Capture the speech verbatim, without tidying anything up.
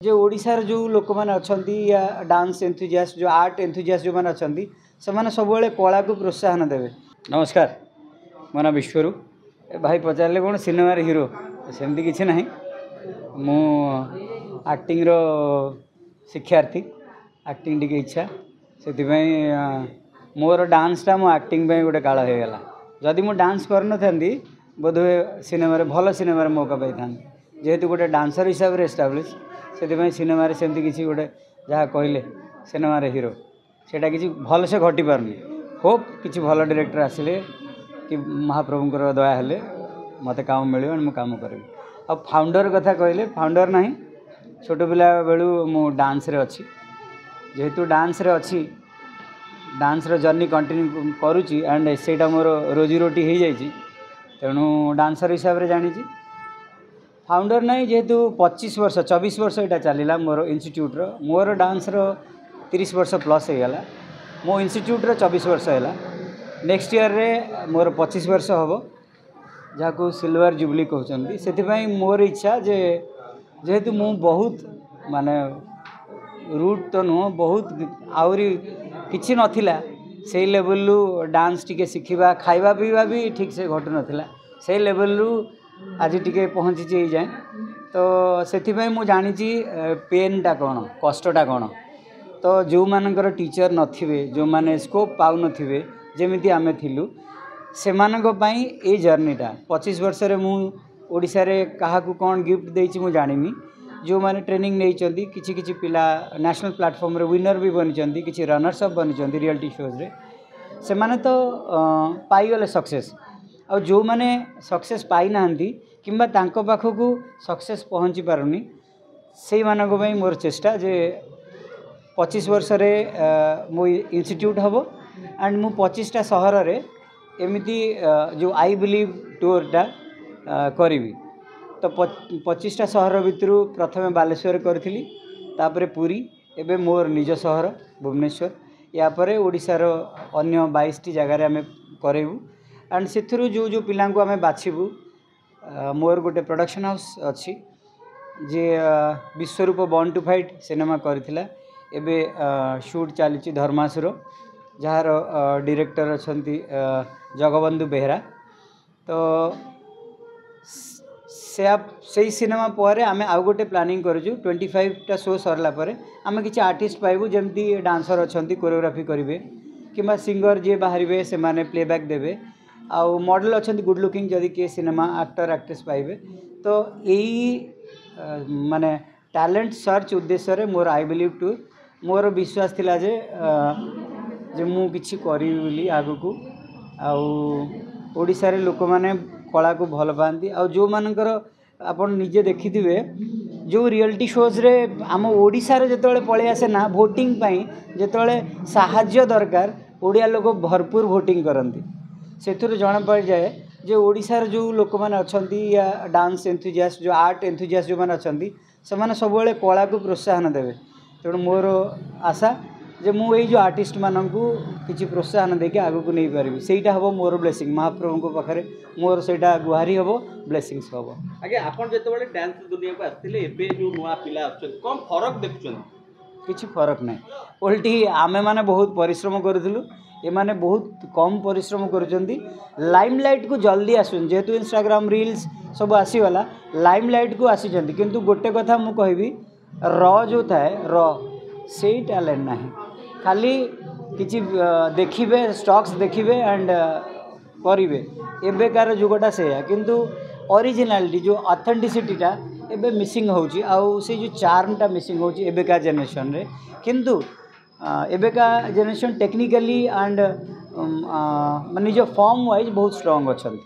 ଯେ ଓଡ଼ିଶାର ଯେଉଁ ଲୋକମାନେ ଅଛନ୍ତି ୟା ଡାନ୍ସ ଏନ୍ଥୁଜିଆଷ୍ଟ ଯେଉଁ ଆର୍ଟ ଏନ୍ଥୁଜିଆଷ୍ଟ ଯେଉଁମାନେ ଅଛନ୍ତି ସେମାନେ ସବୁବେଳେ କଳାକୁ ପ୍ରୋତ୍ସାହନ ଦେବେ ନମସ୍କାର ମୋ ନାଁ ବିଶ୍ୱରୂପ ଏ ଭାଇ ପଚାରିଲେ କ'ଣ ସିନେମାରେ ହିରୋ ସେମିତି କିଛି ନାହିଁ ମୁଁ ଆକ୍ଟିଂର ଶିକ୍ଷାର୍ଥୀ ଆକ୍ଟିଂ ଟିକେ ଇଚ୍ଛା ସେଥିପାଇଁ ମୋର ଡାନ୍ସଟା ମୋ ଆକ୍ଟିଂ ପାଇଁ ଗୋଟେ କାଳ ହେଇଗଲା ଯଦି ମୁଁ ଡାନ୍ସ କରିନଥାନ୍ତି ବୋଧହୁଏ ସିନେମାରେ ଭଲ ସିନେମାରେ ମୌକା ପାଇଥାନ୍ତି ଯେହେତୁ ଗୋଟେ ଡାନ୍ସର ହିସାବରେ ଏଷ୍ଟାବ୍ଲିଶ୍ ସେଥିପାଇଁ ସିନେମାରେ ସେମିତି କିଛି ଗୋଟେ ଯାହା କହିଲେ ସିନେମାରେ ହିରୋ ସେଇଟା କିଛି ଭଲସେ ଘଟିପାରୁନି ହୋପ୍ କିଛି ଭଲ ଡିରେକ୍ଟର ଆସିଲେ କି ମହାପ୍ରଭୁଙ୍କର ଦୟା ହେଲେ ମୋତେ କାମ ମିଳିବ ମୁଁ କାମ କରିବି ଆଉ ଫାଉଣ୍ଡର କଥା କହିଲେ ଫାଉଣ୍ଡର ନାହିଁ ଛୋଟ ପିଲା ବେଳୁ ମୁଁ ଡାନ୍ସରେ ଅଛି ଯେହେତୁ ଡାନ୍ସରେ ଅଛି ଡାନ୍ସର ଜର୍ଣ୍ଣି କଣ୍ଟିନ୍ୟୁ କରୁଛି ଆଣ୍ଡ ସେଇଟା ମୋର ରୋଜିରୋଟି ହେଇଯାଇଛି ତେଣୁ ଡାନ୍ସର ହିସାବରେ ଜାଣିଛି ଫାଉଣ୍ଡର ନାହିଁ ଯେହେତୁ ପଚିଶ ବର୍ଷ ଚବିଶ ବର୍ଷ ଏଇଟା ଚାଲିଲା ମୋର ଇନଷ୍ଟିଚ୍ୟୁଟ୍ର ମୋର ଡାନ୍ସର ତିରିଶ ବର୍ଷ ପ୍ଲସ୍ ହେଇଗଲା ମୋ ଇନଷ୍ଟିଚ୍ୟୁଟ୍ର ଚବିଶ ବର୍ଷ ହେଲା ନେକ୍ସଟ ଇୟର୍ରେ ମୋର ପଚିଶ ବର୍ଷ ହେବ ଯାହାକୁ ସିଲଭର ଜୁବଲି କହୁଛନ୍ତି ସେଥିପାଇଁ ମୋର ଇଚ୍ଛା ଯେ ଯେହେତୁ ମୁଁ ବହୁତ ମାନେ ରୁଟ୍ ତ ନୁହଁ ବହୁତ ଆହୁରି କିଛି ନଥିଲା ସେଇ ଲେଭେଲରୁ ଡାନ୍ସ ଟିକେ ଶିଖିବା ଖାଇବା ପିଇବା ବି ଠିକ୍ସେ ଘଟୁନଥିଲା ସେଇ ଲେଭେଲରୁ ଆଜି ଟିକେ ପହଞ୍ଚିଛି ଏଇ ଯାଏଁ ତ ସେଥିପାଇଁ ମୁଁ ଜାଣିଛି ପେନ୍ଟା କ'ଣ କଷ୍ଟଟା କ'ଣ ତ ଯେଉଁମାନଙ୍କର ଟିଚର୍ ନଥିବେ ଯେଉଁମାନେ ସ୍କୋପ୍ ପାଉନଥିବେ ଯେମିତି ଆମେ ଥିଲୁ ସେମାନଙ୍କ ପାଇଁ ଏଇ ଜର୍ଣ୍ଣିଟା ପଚିଶ ବର୍ଷରେ ମୁଁ ଓଡ଼ିଶାରେ କାହାକୁ କ'ଣ ଗିଫ୍ଟ ଦେଇଛି ମୁଁ ଜାଣିନି ଯେଉଁମାନେ ଟ୍ରେନିଂ ନେଇଛନ୍ତି କିଛି କିଛି ପିଲା ନ୍ୟାସନାଲ୍ ପ୍ଲାଟଫର୍ମରେ ୱିନର୍ ବି ବନିଛନ୍ତି କିଛି ରନର୍ସ ଅପ୍ ବନିଛନ୍ତି ରିଆଲିଟି ଶୋଜ୍ରେ ସେମାନେ ତ ପାଇଗଲେ ସକ୍ସେସ୍ ଆଉ ଯେଉଁମାନେ ସକ୍ସେସ୍ ପାଇନାହାନ୍ତି କିମ୍ବା ତାଙ୍କ ପାଖକୁ ସକ୍ସେସ୍ ପହଞ୍ଚି ପାରୁନି ସେଇମାନଙ୍କ ପାଇଁ ମୋର ଚେଷ୍ଟା ଯେ ପଚିଶ ବର୍ଷରେ ମୋ ଇନଷ୍ଟିଚ୍ୟୁଟ୍ ହେବ ଆଣ୍ଡ ମୁଁ ପଚିଶଟା ସହରରେ ଏମିତି ଯେଉଁ I believe ଟୁର୍ଟା କରିବି ତ ପଚିଶଟା ସହର ଭିତରୁ ପ୍ରଥମେ ବାଲେଶ୍ୱର କରିଥିଲି ତାପରେ ପୁରୀ ଏବେ ମୋର ନିଜ ସହର ଭୁବନେଶ୍ୱର ୟା ପରେ ଓଡ଼ିଶାର ଅନ୍ୟ ବାଇଶଟି ଜାଗାରେ ଆମେ କରେଇବୁ ଆଣ୍ଡ ସେଥିରୁ ଯେଉଁ ଯେଉଁ ପିଲାଙ୍କୁ ଆମେ ବାଛିବୁ ମୋର ଗୋଟେ ପ୍ରଡ଼କ୍ସନ୍ ହାଉସ୍ ଅଛି ଯିଏ Biswarup born to fight cinema କରିଥିଲା ଏବେ ସୁଟ୍ ଚାଲିଛି ଧର୍ମାସୁର ଯାହାର ଡିରେକ୍ଟର ଅଛନ୍ତି ଜଗବନ୍ଧୁ ବେହେରା ତ ସେ ସେଇ ସିନେମା ପରେ ଆମେ ଆଉ ଗୋଟେ ପ୍ଲାନିଂ କରୁଛୁ ଟ୍ୱେଣ୍ଟି ଫାଇଭଟା ଶୋ ସରିଲା ପରେ ଆମେ କିଛି ଆର୍ଟିଷ୍ଟ ପାଇବୁ ଯେମିତି ଡାନ୍ସର ଅଛନ୍ତି କୋରିଓଗ୍ରାଫି କରିବେ କିମ୍ବା ସିଙ୍ଗର ଯିଏ ବାହାରିବେ ସେମାନେ ପ୍ଲେବ୍ୟାକ୍ ଦେବେ ଆଉ ମଡ଼େଲ୍ ଅଛନ୍ତି ଗୁଡ଼୍ ଲୁକିଂ ଯଦି କିଏ ସିନେମା ଆକ୍ଟର ଆକ୍ଟ୍ରେସ୍ ପାଇବେ ତ ଏଇ ମାନେ ଟ୍ୟାଲେଣ୍ଟ ସର୍ଚ୍ଚ ଉଦ୍ଦେଶ୍ୟରେ ମୋର I believe tour ମୋର ବିଶ୍ୱାସ ଥିଲା ଯେ ଯେ ମୁଁ କିଛି କରିବି ବୋଲି ଆଗକୁ ଆଉ ଓଡ଼ିଶାରେ ଲୋକମାନେ କଳାକୁ ଭଲ ପାଆନ୍ତି ଆଉ ଯେଉଁମାନଙ୍କର ଆପଣ ନିଜେ ଦେଖିଥିବେ ଯେଉଁ ରିଆଲିଟି ଶୋଜ୍ରେ ଆମ ଓଡ଼ିଶାରେ ଯେତେବେଳେ ପଳେଇ ଆସେ ନା ଭୋଟିଂ ପାଇଁ ଯେତେବେଳେ ସାହାଯ୍ୟ ଦରକାର ଓଡ଼ିଆ ଲୋକ ଭରପୁର ଭୋଟିଂ କରନ୍ତି ସେଥିରୁ ଜଣାପଡ଼ିଯାଏ ଯେ ଓଡ଼ିଶାର ଯେଉଁ ଲୋକମାନେ ଅଛନ୍ତି ୟା ଡାନ୍ସ ଏନ୍ଥୁଜିଆଷ୍ଟ ଯେଉଁ ଆର୍ଟ ଏନ୍ଥୁଜିଆଷ୍ଟ ଯେଉଁମାନେ ଅଛନ୍ତି ସେମାନେ ସବୁବେଳେ କଳାକୁ ପ୍ରୋତ୍ସାହନ ଦେବେ ତେଣୁ ମୋର ଆଶା ଯେ ମୁଁ ଏଇ ଯେଉଁ ଆର୍ଟିଷ୍ଟମାନଙ୍କୁ କିଛି ପ୍ରୋତ୍ସାହନ ଦେଇକି ଆଗକୁ ନେଇପାରିବି ସେଇଟା ହେବ ମୋର ବ୍ଲେସିଂ ମହାପ୍ରଭୁଙ୍କ ପାଖରେ ମୋର ସେଇଟା ଗୁହାରି ହେବ ବ୍ଲେସିଂସ୍ ହେବ ଆଜ୍ଞା ଆପଣ ଯେତେବେଳେ ଡ୍ୟାନ୍ସ ଦୁନିଆକୁ ଆସିଥିଲେ ଏବେ ଯେଉଁ ନୂଆ ପିଲା ଆସୁଛନ୍ତି କ'ଣ ଫରକ ଦେଖୁଛନ୍ତି କିଛି ଫରକ ନାହିଁ ଓଲଟି ଆମେମାନେ ବହୁତ ପରିଶ୍ରମ କରୁଥିଲୁ ଏମାନେ ବହୁତ କମ୍ ପରିଶ୍ରମ କରୁଛନ୍ତି ଲାଇମ୍ ଲାଇଟ୍କୁ ଜଲ୍ଦି ଆସୁଛନ୍ତି ଯେହେତୁ ଇନଷ୍ଟାଗ୍ରାମ ରିଲ୍ସ ସବୁ ଆସିଗଲା ଲାଇମ୍ ଲାଇଟ୍କୁ ଆସିଛନ୍ତି କିନ୍ତୁ ଗୋଟେ କଥା ମୁଁ କହିବି ର ଯେଉଁ ଥାଏ ର ସେଇ ଟ୍ୟାଲେଣ୍ଟ ନାହିଁ ଖାଲି କିଛି ଦେଖିବେ ଷ୍ଟକ୍ସ ଦେଖିବେ ଆଣ୍ଡ କରିବେ ଏବେକାର ଯୁଗଟା ସେଇଆ କିନ୍ତୁ ଅରିଜିନାଲିଟି ଯେଉଁ ଅଥେଣ୍ଟିସିଟିଟା ଏବେ ମିସିଂ ହେଉଛି ଆଉ ସେଇ ଯେଉଁ ଚାର୍ମଟା ମିସିଂ ହେଉଛି ଏବେକା ଜେନେରେସନ୍ରେ କିନ୍ତୁ ଏବେକା ଜେନେରେସନ୍ ଟେକ୍ନିକାଲି ଆଣ୍ଡ ନିଜ ଫର୍ମ ୱାଇଜ୍ ବହୁତ ଷ୍ଟ୍ରଙ୍ଗ ଅଛନ୍ତି